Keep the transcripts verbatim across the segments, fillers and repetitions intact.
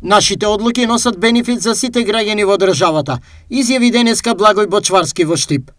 Нашите одлуки носат бенефит за сите граѓани во државата, изјави денеска Благој Бочварски во Штип.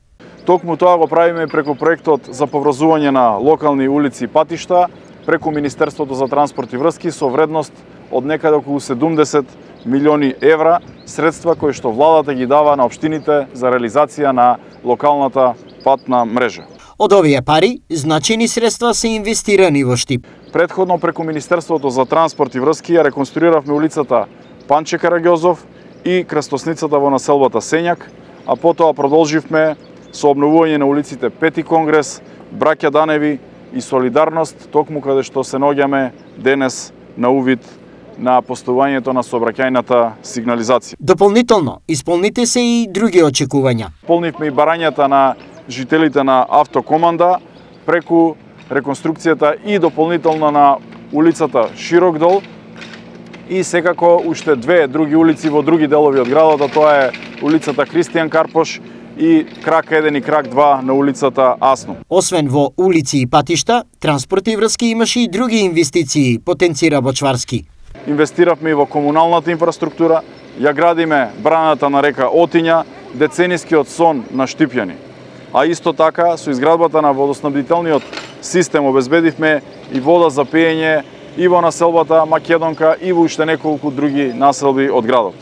Токму тоа го правиме преку проектот за поврзување на локални улици и патишта, преку Министерството за транспорт и врски со вредност од некаде околу седумдесет милиони евра, средства кои што владата ги дава на општините за реализација на локалната патна мрежа. Од овие пари, значени средства се инвестирани во Штип. Предходно преку Министерството за транспорт и врски ја реконструиравме улицата Панче Караѓозов и крстосницата во населбата Сењак, а потоа продолживме со обновување на улиците Пети Конгрес, Браќа Даневи и Солидарност, токму каде што се наоѓаме денес на увид на постојувањето на сообраќајната сигнализација. Дополнително, исполните се и други очекувања. Полнивме и барањата на жителите на Автокоманда преку реконструкцијата и дополнително на улицата Широкдол и секако уште две други улици во други делови од градот, а тоа е улицата Кристијан Карпош и крак еден и крак два на улицата Асно. Освен во улици и патишта, транспорт и врски имаше и други инвестиции, потенцира Бочварски. Инвестиравме и во комуналната инфраструктура, ја градиме браната на река Отиња, деценискиот сон на штипјани. А исто така, со изградбата на водоснабдителниот систем обезбедивме и вода за пиење и во населбата Македонка и во уште неколку други населби од градот.